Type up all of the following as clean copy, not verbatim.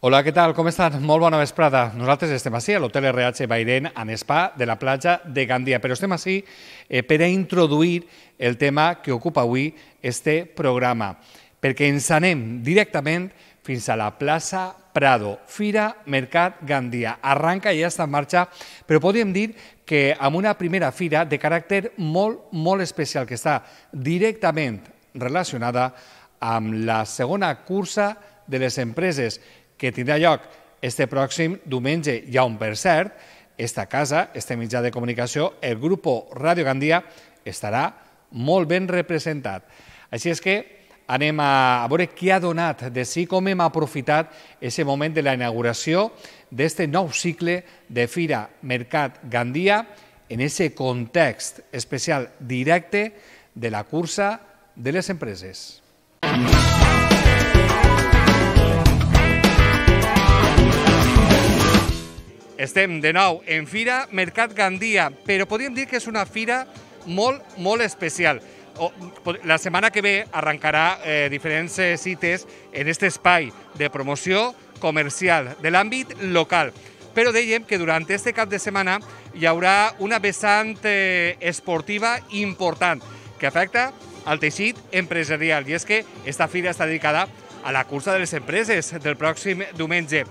Hola, què tal? Com estan? Molt bona vesprada. Nosaltres estem així a l'Hotel RH Bairén, en Spa de la platja de Gandia, però estem així per a introduir el tema que ocupa avui este programa, perquè ens anem directament fins a la plaça Prado, Fira Mercat Gandia. Arranca i ja està en marxa, però podríem dir que amb una primera fira de caràcter molt especial, que està directament relacionada amb la segona cursa de les empreses, que tindrà lloc este pròxim diumenge, i on, per cert, esta casa, este mitjà de comunicació, el Grupo Radio Gandia, estarà molt ben representat. Així és que anem a veure què ha donat de si, com hem aprofitat aquest moment de la inauguració d'este nou cicle de Fira Mercat Gandia en aquest context especial directe de la cursa de les empreses. Estem de nou en Fira Mercat Gandia, però podríem dir que és una fira molt especial. La setmana que ve arrencarà diferents cites en aquest espai de promoció comercial de l'àmbit local. Però dèiem que durant aquest cap de setmana hi haurà una vessant esportiva important que afecta al teixit empresarial, i és que aquesta fira està dedicada a la cursa de les empreses del pròxim diumenge.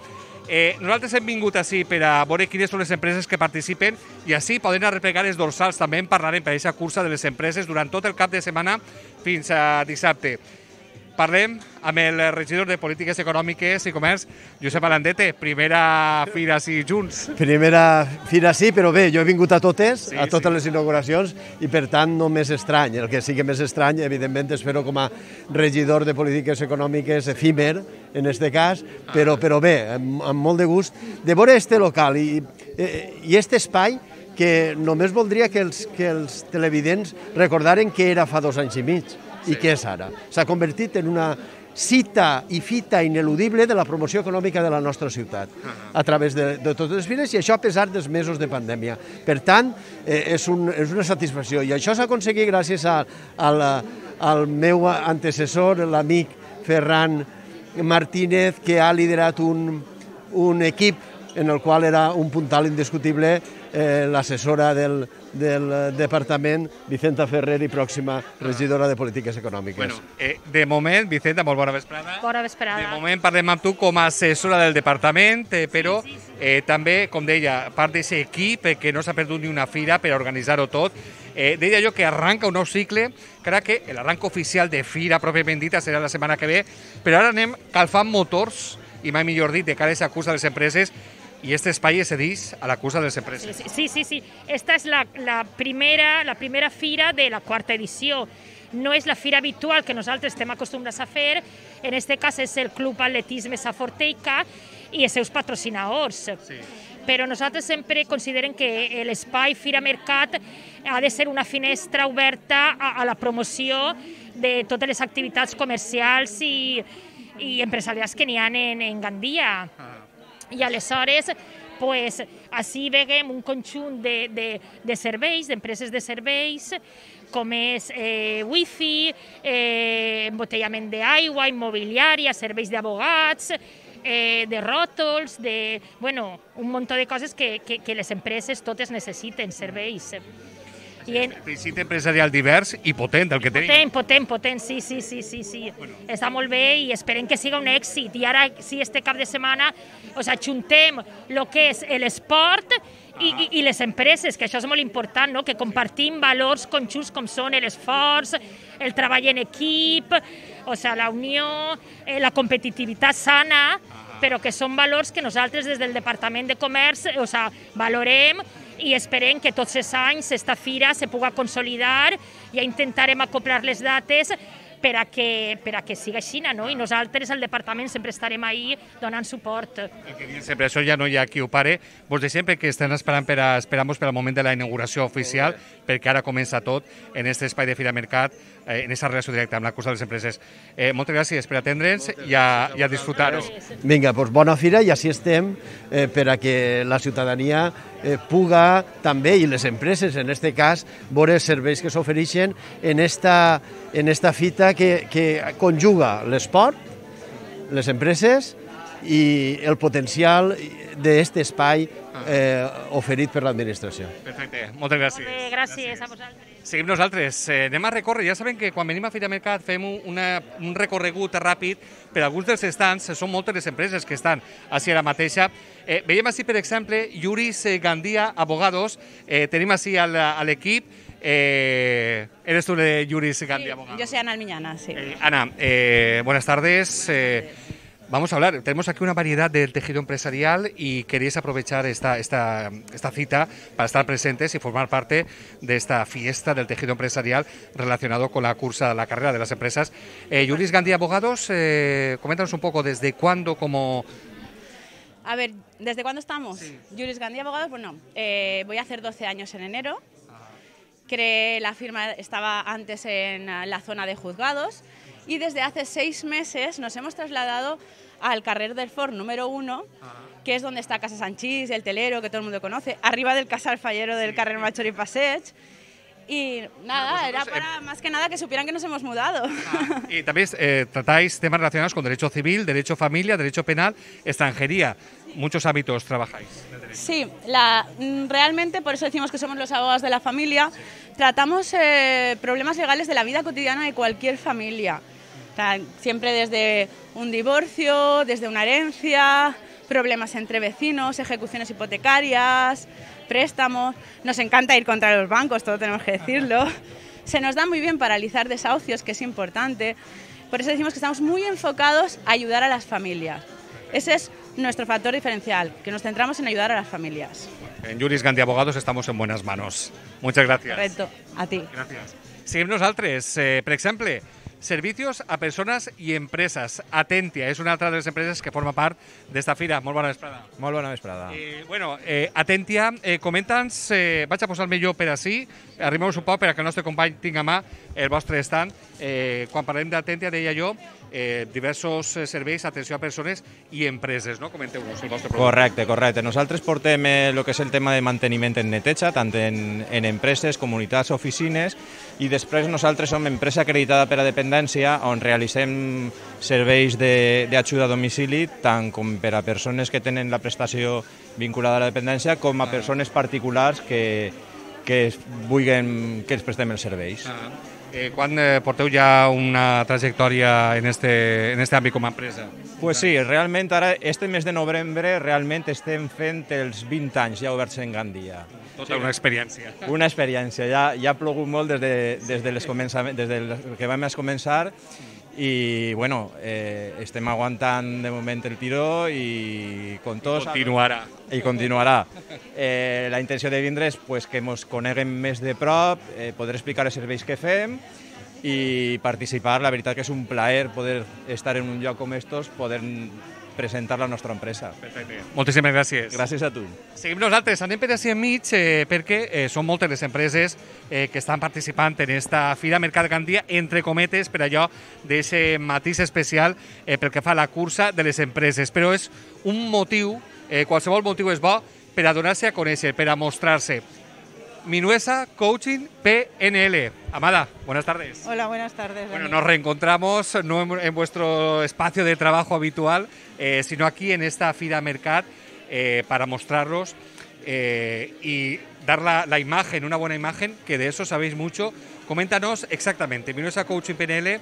Nosaltres hem vingut així per a veure quines són les empreses que participen i així poden arreplegar els dorsals. També en parlarem per a aquesta cursa de les empreses durant tot el cap de setmana fins a dissabte. Parlem amb el regidor de Polítiques Econòmiques i Comerç, Josep Alandete. Primera fira així junts. Primera fira sí, però bé, jo he vingut a totes les inauguracions, i per tant no m'és estrany. El que sí que m'és estrany, evidentment, és fer-ho com a regidor de Polítiques Econòmiques efímer, en aquest cas, però bé, amb molt de gust, de veure este local i este espai que només voldria que els televidents recordaren què era fa 2 anys i mig. I què és ara? S'ha convertit en una cita i fita ineludible de la promoció econòmica de la nostra ciutat a través de totes les fires, i això a pesar dels mesos de pandèmia. Per tant, és una satisfacció, i això s'ha aconseguit gràcies al meu antecessor, l'amic Ferran Martínez, que ha liderat un equip en el qual era un puntal indiscutible l'assessora del departament, Vicenta Ferrer, i pròxima regidora de Polítiques Econòmiques. De moment, Vicenta, molt bona vesprada. Bona vesprada. De moment parlem amb tu com a assessora del departament, però també, com deia, part d'aquest equip que no s'ha perdut ni una fira per organitzar-ho tot. Deia jo que arranca un nou cicle, crec que l'arranc oficial de fira pròpiament dita serà la setmana que ve, però ara anem calfant motors, i mai millor dit, de cara a aquesta cursa de les empreses, i aquest espai es cedeix a la cursa de les empreses. Sí. Esta és la primera fira de la quarta edició. No és la fira habitual que nosaltres estem acostumbrats a fer. En aquest cas és el Club Atletisme Saforteica i els seus patrocinadors. Però nosaltres sempre considerem que l'espai Fira Mercat ha de ser una finestra oberta a la promoció de totes les activitats comercials i empresarials que n'hi ha en Gandia. I aleshores, així veiem un conjunt de serveis, d'empreses de serveis, com és wifi, embotellament d'aigua, immobiliària, serveis d'abogats, de ròtols, un munt de coses que les empreses totes necessiten, serveis. Teixit empresarial divers i potent, el que tenim. Potent, sí. Està molt bé i esperem que siga un èxit. I ara, sí, este cap de setmana, ajuntem el que és l'esport i les empreses, que això és molt important, que compartim valors conjunts com són l'esforç, el treball en equip, la unió, la competitivitat sana, però que són valors que nosaltres des del Departament de Comerç valorem, i esperem que tots els anys aquesta fira se pugui consolidar. Ja intentarem acoplar les dates per a que siga així, no? I nosaltres, al departament, sempre estarem ahí donant suport. Sempre això ja no hi ha qui ho pare. Vos deixem perquè estem esperant per al moment de la inauguració oficial, perquè ara comença tot en aquest espai de Fira Mercat, en aquesta relació directa amb la cursa de les empreses. Moltes gràcies per atendre'ns i a disfrutar-ho. Vinga, doncs bona fira, i així estem per a que la ciutadania puga també, i les empreses en aquest cas, veure els serveis que s'ofereixen en esta fita que conjuga l'esport, les empreses i el potencial d'aquest espai oferit per l'administració. Perfecte, moltes gràcies. Gràcies a vosaltres. Seguim nosaltres. Anem a recórrer. Ja sabem que quan venim a Fira Mercat fem un recorregut ràpid per alguns dels estants. Són moltes les empreses que estan així ara mateixa. Veiem així, per exemple, Juris Gandia Abogados. Tenim així a l'equip. ¿Eres tú de Juris Gandia Abogados? Yo soy Ana Almiñana, sí. Ana, buenas tardes. Vamos a hablar, tenemos aquí una variedad del tejido empresarial y queréis aprovechar esta cita para estar presentes y formar parte de esta fiesta del tejido empresarial relacionado con la carrera de las empresas. Juris Gandia Abogados, coméntanos un poco desde cuándo, cómo... A ver, ¿desde cuándo estamos? Sí. Juris Gandia Abogados, bueno, voy a hacer 12 años en enero. Creé la firma, estaba antes en la zona de juzgados. Y desde hace 6 meses nos hemos trasladado al carrer del Fort número 1, que es donde está Casa Sanchís, el telero, que todo el mundo conoce, arriba del Casal Fallero del carrer Major y Passeig. Y nada, era para más que nada que supieran que nos hemos mudado. Y también tratáis temas relacionados con derecho civil, derecho familia, derecho penal, extranjería. Muchos ámbitos trabajáis. Sí, realmente por eso decimos que somos los abogados de la familia. Tratamos problemas legales de la vida cotidiana de cualquier familia. O sea, siempre desde un divorcio, desde una herencia, problemas entre vecinos, ejecuciones hipotecarias, préstamos. Nos encanta ir contra los bancos, todo tenemos que decirlo. Se nos da muy bien paralizar desahucios, que es importante. Por eso decimos que estamos muy enfocados a ayudar a las familias. Ese es nuestro factor diferencial, que nos centramos en ayudar a las familias. En Juris Gandia Abogados estamos en buenas manos. Muchas gracias. Correcto, a ti. Gràcies. Seguim nosaltres. Per exemple, servicios a persones i empreses. Atentia és una altra de les empreses que forma part d'esta fira. Molt bona vesprada. Molt bona vesprada. Atentia, comenta'ns, vaig a posar-me jo per ací, arrimeu-vos un poc perquè el nostre company tinga a mà el vostre stand. Quan parlem d'Atentia, deia jo, diversos serveis, atenció a persones i empreses, no? Comenteu-nos el vostre producte. Correcte. Nosaltres portem el que és el tema de manteniment en neteja, tant en empreses, comunitats, oficines, i després nosaltres som empresa acreditada per a dependència, on realitzem serveis d'ajuda a domicili, tant com per a persones que tenen la prestació vinculada a la dependència, com a persones particulars que vulguin que els prestem els serveis. Quan porteu ja una trajectòria en este àmbit com a empresa? Pues sí, realment ara, este mes de novembre, realment estem fent els 20 anys ja oberts en Gandia. Tota una experiència. Una experiència, ja ha plogut molt des que vam començar i bueno, estem aguantant de moment el tiró i con tots... I continuarà. La intenció de vindre és que ens coneguem més de prop, poder explicar els serveis que fem i participar. La veritat que és un plaer poder estar en un lloc com estos, poder presentar la nostra empresa. Perfecte. Moltíssimes gràcies. Gràcies a tu. Seguim nosaltres, anem per així enmig perquè són moltes les empreses que estan participant en esta Fira Mercat Gandia, entre cometes, per allò d'aquest matís especial pel que fa a la cursa de les empreses. Però és un motiu, qualsevol motiu és bo per a donar-se a conèixer, per a mostrar-se. Minuesa Coaching PNL. Amada, buenas tardes. Hola, buenas tardes. Bueno, nos reencontramos no en vuestro espacio de trabajo habitual, sino aquí en esta Fira Mercat para mostraros y dar la imagen, una buena imagen, que de eso sabéis mucho. Coméntanos exactamente, Minuesa Coaching PNL,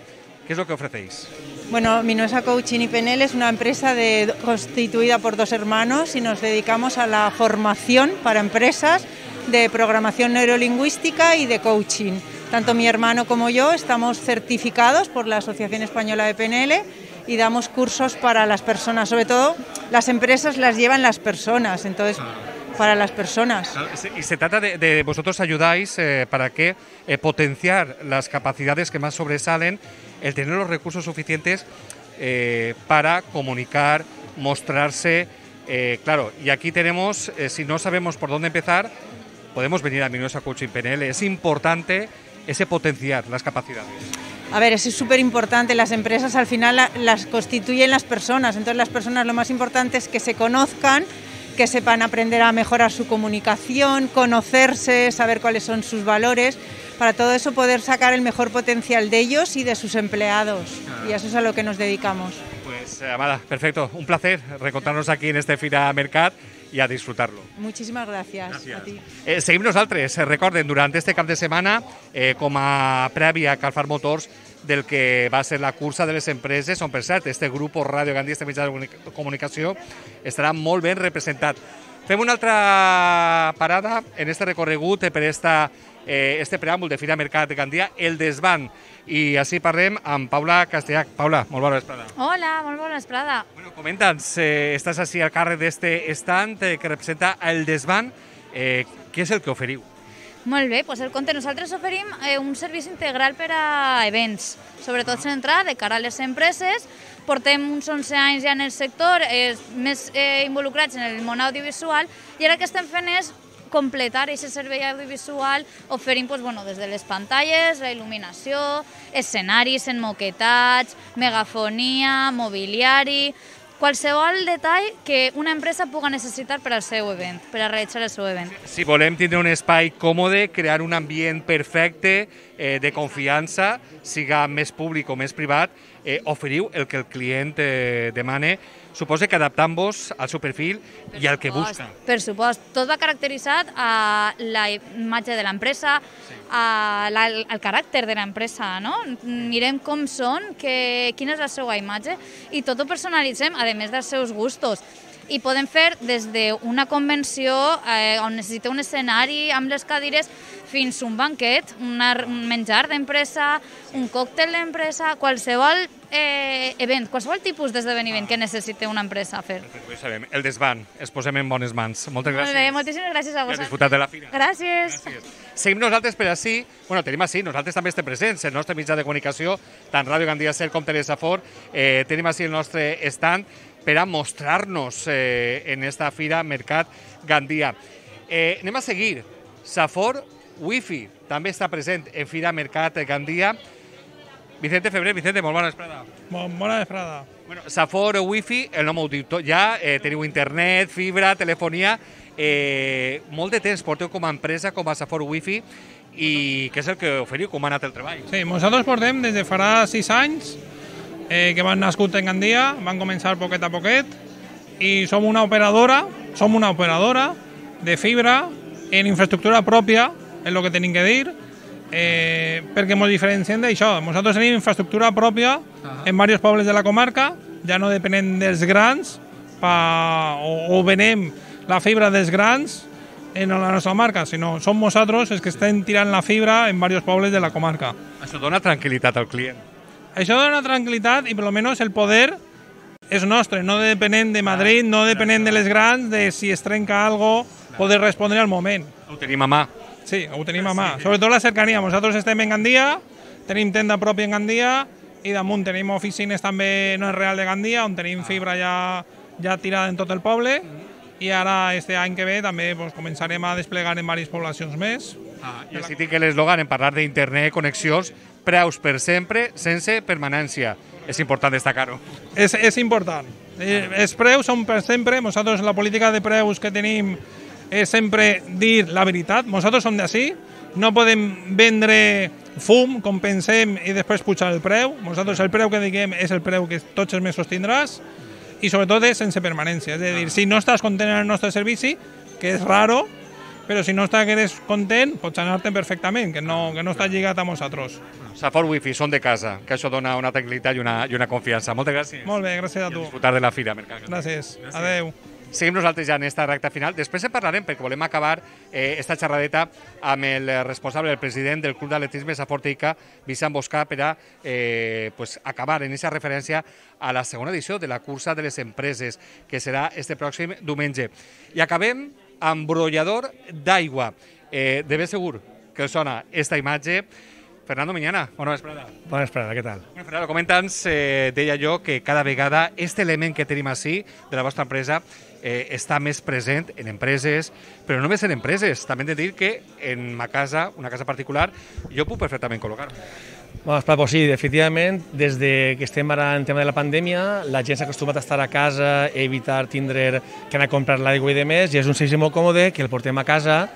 ¿qué es lo que ofrecéis? Bueno, Minuesa Coaching y PNL es una empresa constituida por 2 hermanos y nos dedicamos a la formación para empresas de programación neurolingüística y de coaching. Tanto mi hermano como yo estamos certificados por la Asociación Española de PNL y damos cursos para las personas. Sobre todo, las empresas las llevan las personas, entonces, para las personas. Y se trata de vosotros ayudáis para que potenciar las capacidades que más sobresalen, el tener los recursos suficientes para comunicar, mostrarse. Claro, y aquí tenemos, si no sabemos por dónde empezar, podemos venir a Minuesa Coaching PNL. Es importante ese potenciar las capacidades. A ver, eso es súper importante. Las empresas al final las constituyen las personas. Entonces las personas lo más importante es que se conozcan, que sepan aprender a mejorar su comunicación, conocerse, saber cuáles son sus valores. Para todo eso poder sacar el mejor potencial de ellos y de sus empleados. Y eso es a lo que nos dedicamos. Pues Pues, Amada, perfecto. Un placer reencontrarnos aquí en este Fira Mercat y a disfrutarlo. Muchísimas gracias. A ti. Seguim nosaltres. Recorden, durant este cap de setmana, com a prèvia a Calfar Motors, del que va ser la cursa de les empreses, on, per cert, este grup Ràdio Gandia, este mitjà de comunicació, estarà molt ben representat. Fem una altra parada en este recorregut per este preàmbul de Fira Mercat de Gandia, el desván. I així parlem amb Paula Castellac. Paula, molt bona vesprada. Hola, molt bona vesprada. Bueno, comenta'ns, estàs així al càrrec d'este stand que representa el desván. Què és el que oferiu? Molt bé, doncs el compte nosaltres oferim un servici integral per a events, sobretot centrat de cara a les empreses. Portem uns 11 anys ja en el sector, més involucrats en el món audiovisual, i ara el que estem fent és completar aquest servei audiovisual oferint des de les pantalles, la il·luminació, escenaris emmoquetats, megafonia, mobiliari, qualsevol detall que una empresa puga necessitar per al seu event, per a realitzar el seu event. Si volem tindre un espai còmode, crear un ambient perfecte, de confiança, siga més públic o més privat, oferiu el que el client demane, suposa que adaptant-vos al seu perfil i al que busca. Per supost, tot va caracteritzat a la imatge de l'empresa, al caràcter de l'empresa, no? Mirem com són, quina és la seva imatge i tot ho personalitzem, a més dels seus gustos. I podem fer des d'una convenció on necessita un escenari amb les cadires fins a un banquet, un menjar d'empresa, un còctel d'empresa, qualsevol event, qualsevol tipus d'esdeveniment que necessita una empresa fer. Perfecte, ho sabem. El desván, es posem en bones mans. Moltes gràcies. Molt bé, moltíssimes gràcies a vosaltres. I disfrutat de la fira. Gràcies. Seguim nosaltres per així, tenim així, nosaltres també estem presents, el nostre mitjà de comunicació, tant Ràdio Gandia Ser com Telesafor, tenim així el nostre stand per a mostrar-nos en esta Fira Mercat Gandia. Anem a seguir. Safor Wi-Fi també està present en Fira Mercat Gandia. Vicente Febrer, Vicente, molt bona vesprada. Bona vesprada. Safor Wi-Fi, el nom ho diu tot ja, teniu internet, fibra, telefonia, molt de temps porteu com a empresa, com a Safor Wi-Fi, i què és el que oferiu, com ha anat el treball? Sí, nosaltres portem des de farà 6 anys, que van nascut en Gandia, van començar poquet a poquet, i som una operadora de fibra en infraestructura pròpia, és el que tenim que dir, perquè ens diferenciem d'això. Nosaltres tenim infraestructura pròpia en diversos pobles de la comarca, ja no depenem dels grans, o venem la fibra dels grans en la nostra marca, sinó som nosaltres els que estem tirant la fibra en diversos pobles de la comarca. Això dona tranquil·litat al client. Això dona tranquil·litat i per almenys el poder és nostre, no depenem de Madrid, no depenem de les grans, de si es trenca alguna cosa, poder respondre al moment. Ho tenim a mà. Sí, ho tenim a mà. Sobretot la cercania. Nosaltres estem en Gandia, tenim tenda pròpia en Gandia i damunt tenim oficines també no és real de Gandia, on tenim fibra ja tirada en tot el poble, i ara este any que ve també començarem a desplegar en diverses poblacions més. I així tinc l'eslògan en parlar d'internet, connexions, preus per sempre, sense permanència. És important destacar-ho. És important. Els preus són per sempre. Nosaltres la política de preus que tenim és sempre dir la veritat. Nosaltres som d'ací, no podem vendre fum com pensem i després pujar el preu. Nosaltres el preu que diguem és el preu que tots els mesos tindràs i sobretot és sense permanència. És a dir, si no estàs content en el nostre servici, que és raro, però si no estàs content, pots anar-te'n perfectament, que no està lligat a nosaltres. Safor Wi-Fi, són de casa, que això dona una tranquil·litat i una confiança. Moltes gràcies. Molt bé, gràcies a tu. I a disfrutar de la Fira Mercat. Gràcies. Adeu. Seguim nosaltres ja en esta recta final. Després en parlarem, perquè volem acabar esta xerradeta amb el responsable, el president del Club d'Atletisme Safor Teica, Vicent Boscà, per a acabar en aquesta referència a la segona edició de la cursa de les empreses, que serà este pròxim diumenge. I acabem amb brollador d'aigua. De ben segur que sona esta imatge. Fernando Miñana, bona vesprada. Bona vesprada, què tal? Fernando, comenta'ns, deia jo que cada vegada este element que tenim així de la vostra empresa està més present en empreses, però no només en empreses. També hem de dir que en ma casa, una casa particular, jo puc perfectament col·locar. Pues sí, definitivament, des que estem ara en tema de la pandèmia, la gent s'ha acostumat a estar a casa, evitar tindre que anar a comprar l'aigua i demés, i és un servici molt còmode que el portem a casa,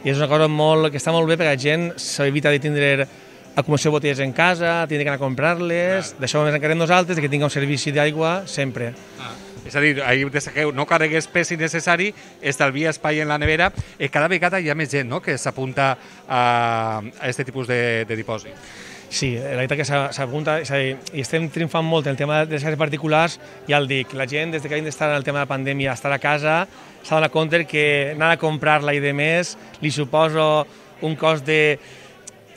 i és una cosa que està molt bé perquè la gent s'evita de tindre acumulació de botelles en casa, tindre que anar a comprar-les, d'això ens encarreguem nosaltres, que tinguem un servici d'aigua sempre. És a dir, ahir destaqueu, no carregues pes innecessari, estalvia espai en la nevera, cada vegada hi ha més gent, no?, que s'apunta a aquest tipus de dipòsit. Sí, la veritat que s'apunta, és a dir, i estem triomfant molt en el tema de les cases particulars, ja el dic, la gent des que hem d'estar en el tema de la pandèmia, estar a casa, s'ha donat compte que anar a comprar-la i de més li suposa un cost de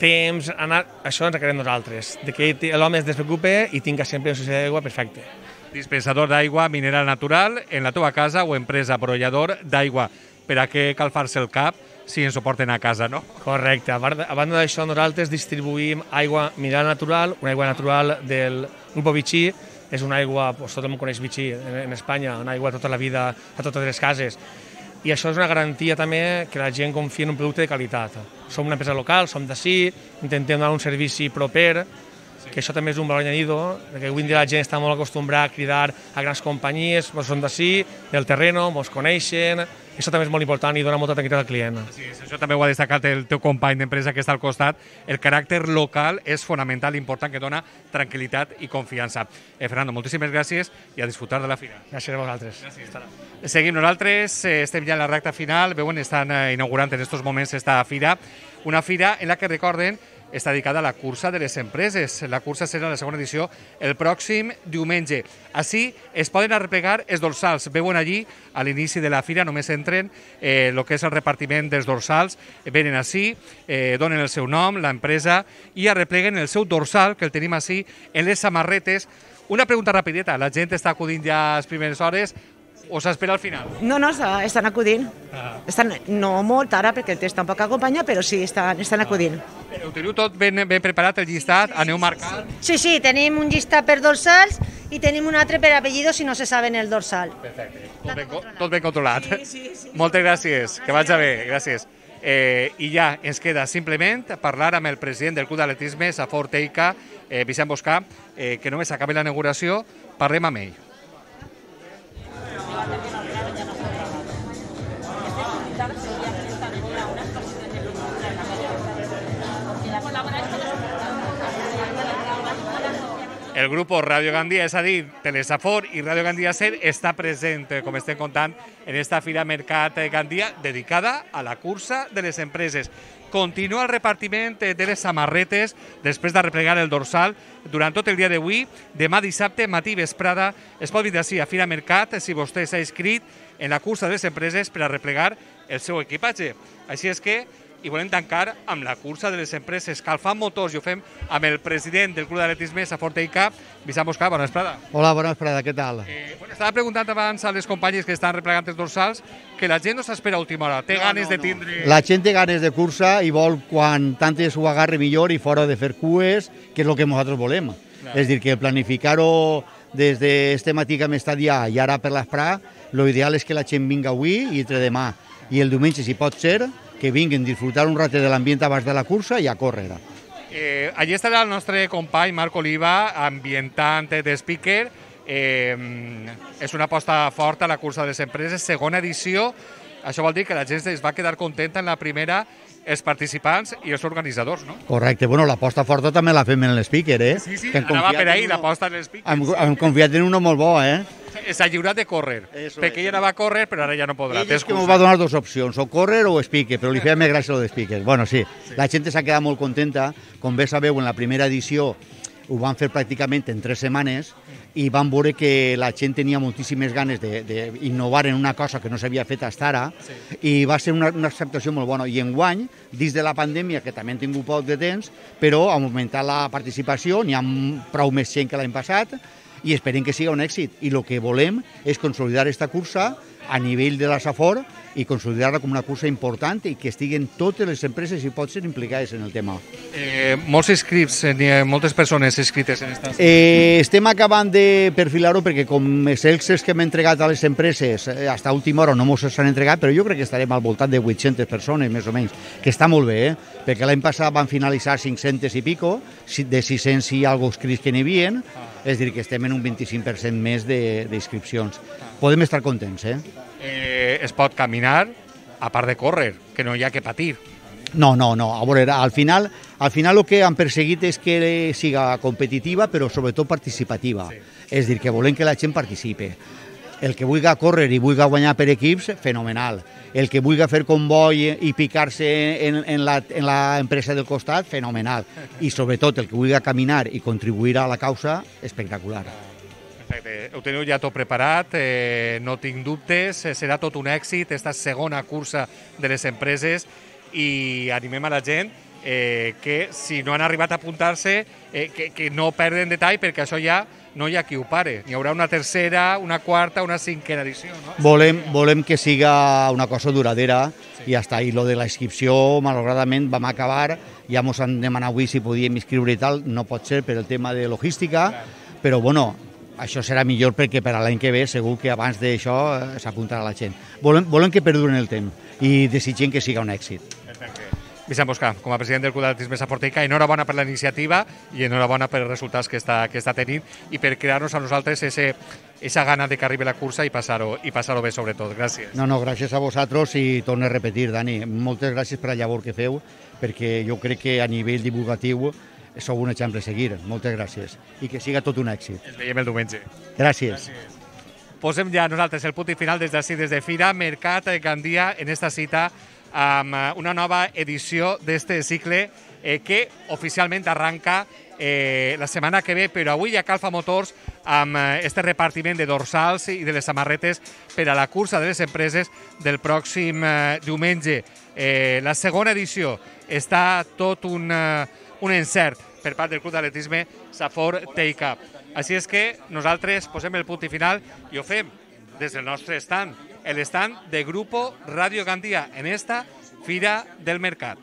temps, això ens encarreguem nosaltres, de que l'home es despreocupe i tinga sempre una societat d'aigua perfecte. Dispensador d'aigua mineral natural en la teva casa o empresa brollador d'aigua. Per a què cal fer-se el cap si ens ho porten a casa, no? Correcte. A banda d'això, nosaltres distribuïm aigua mineral natural, una aigua natural del Grupo Vichy. És una aigua, tothom coneix Vichy en Espanya, una aigua tota la vida a totes les cases. I això és una garantia també que la gent confia en un producte de qualitat. Som una empresa local, som d'ací, intentem donar un servici proper, que això també és un valor añadido, perquè avui en dia la gent està molt acostumbrada a cridar a grans companyies, són d'ací, del terreno, ens coneixen, això també és molt important i dona molta tranquil·litat al client. Sí, això també ho ha destacat el teu company d'empresa que està al costat. El caràcter local és fonamental i important, que dona tranquil·litat i confiança. Fernando, moltíssimes gràcies i a disfrutar de la fira. Gràcies a vosaltres. Seguim nosaltres, estem ja en la recta final, veuen, estan inaugurant en aquests moments esta fira, una fira en la que recorden està dedicada a la cursa de les empreses. La cursa serà la segona edició el pròxim diumenge. Així es poden arreplegar els dorsals. Veuen allí, a l'inici de la fira, només entren el que és el repartiment dels dorsals. Venen així, donen el seu nom, l'empresa, i arrepleguen el seu dorsal, que el tenim així, en les samarretes. Una pregunta rapideta. La gent està acudint ja a les primeres hores o s'espera al final? No, estan acudint. No molt ara perquè el temps tampoc acompanya, però sí, estan acudint. Ho teniu tot ben preparat, el llistat? Aneu marcant? Sí, tenim un llistat per dorsals i tenim un altre per apellidos si no se saben el dorsal. Perfecte. Tot ben controlat. Sí. Moltes gràcies. Que vagi bé. Gràcies. I ja ens queda simplement parlar amb el president del Club d'Atletisme Safor Teica, Vicent Boscà, que només acabi la inauguració, parlem amb ell. El grupo Radio Gandia, és a dir, Telesafor i Radio Gandia Ser, està present, com estem contant, en esta Fira Mercat Gandia dedicada a la cursa de les empreses. Continua el repartiment de les samarretes després de replegar el dorsal durant tot el dia d'avui. Demà dissabte, matí i vesprada, es pot vindre així a Fira Mercat si vostè s'ha inscrit en la cursa de les empreses per a replegar el seu equipatge. Així és que i volem tancar amb la cursa de les empreses calfant motors, i ho fem amb el president del Club d'Atletisme Safor Teica, Vicent Boscà. Bona vesprada. Hola, bona vesprada, què tal? Estava preguntant abans a les companyes que estan replegant els dorsals que la gent no s'espera a última hora, té ganes de tindre... La gent té ganes de cursa i vol quan tantes ho agarre millor i fora de fer cues, que és el que nosaltres volem. És dir, que planificar-ho des d'este matí que hem estat ja i ara per l'esprà, l'ideal és que la gent vinga avui i entre demà i el diumenge, si pot ser, que vinguin a disfrutar un ratet de l'ambient abans de la cursa i a córrer. Allí estarà el nostre company Marc Oliva, ambientant de speaker. És una aposta forta a la cursa de les empreses, segona edició. Això vol dir que la gent es va quedar contenta en la primera, els participants i els organitzadors, no? Correcte. Bueno, l'aposta forta també la fem en l'speaker, eh? Sí, anava per ahir l'aposta en l'speaker. Hem confiat en uno molt bo, eh? S'ha lliurat de córrer, perquè ella anava a córrer, però ara ja no podrà. Ell és que m'ho va donar dues opcions, o córrer o speaker, però li feia més gràcia el de speaker. Bueno, sí, la gent s'ha quedat molt contenta. Com bé sabeu, en la primera edició ho van fer pràcticament en 3 setmanes i van veure que la gent tenia moltíssimes ganes d'innovar en una cosa que no s'havia fet fins ara i va ser una acceptació molt bona. I enguany, dins de la pandèmia, que també hem tingut poc de temps, però ha augmentat la participació, n'hi ha prou més gent que l'any passat, i esperem que sigui un èxit. I el que volem és consolidar aquesta cursa a nivell de la Safor i consolidar-la com una cursa important i que estiguen totes les empreses, si pot ser, implicades en el tema. Molts inscrits, moltes persones inscrites en aquesta... Estem acabant de perfilar-ho perquè com els excels que hem entregat a les empreses fins a última hora no ens s'han entregat, però jo crec que estarem al voltant de 800 persones, més o menys, que està molt bé, perquè l'any passat van finalitzar 500 i pico, de 600 i alguna inscrits que n'hi havia, és a dir, que estem en un 25% més d'inscripcions. Podem estar contents, Es pot caminar, a part de córrer, que no hi ha que patir. No, a veure, al final el que han perseguit és que siga competitiva, però sobretot participativa. És dir, que volem que la gent participe. El que vulgui córrer i vulgui guanyar per equips, fenomenal. El que vulgui fer comboi i picar-se en la empresa del costat, fenomenal. I sobretot el que vulgui caminar i contribuir a la causa, espectacular. Perfecte. Ho teniu ja tot preparat, no tinc dubtes, serà tot un èxit, esta segona cursa de les empreses, i animem a la gent que si no han arribat a apuntar-se, que no perden detall, perquè això ja no hi ha qui ho pare. Hi haurà una tercera, una quarta, una cinquena edició, no? Volem que siga una cosa duradera i ja està. I lo de la inscripció, malauradament, vam acabar, ja ens han demanat avui si podíem inscriure i tal, no pot ser per el tema de logística, però bueno, això serà millor perquè per a l'any que ve segur que abans d'això s'apuntarà la gent. Volem que perduren el temps i desitgem que siga un èxit. Vicent Boscà, com a president del Club d'Atletisme Saforteica, enhorabona per la iniciativa i enhorabona per els resultats que està tenint i per crear-nos a nosaltres esa gana de que arribi la cursa i passar-ho bé, sobretot. Gràcies. No, gràcies a vosaltres i torno a repetir, Dani, moltes gràcies per la llavor que feu, perquè jo crec que a nivell divulgatiu sou un exemple a seguir. Moltes gràcies i que siga tot un èxit. Ens veiem el diumenge. Gràcies. Posem ja nosaltres el punt final des d'ací, des de Fira Mercat Gandia, en esta cita amb una nova edició d'este cicle que oficialment arranca la setmana que ve, però avui ja calfa motors amb este repartiment de dorsals i de les samarretes per a la cursa de les empreses del pròxim diumenge. La segona edició està tot un encert per part del Club d'Atletisme Saforteica. Així és que nosaltres posem el punt final i ho fem des del nostre stand, el stand de Grupo Radio Gandia en esta Fira del Mercat.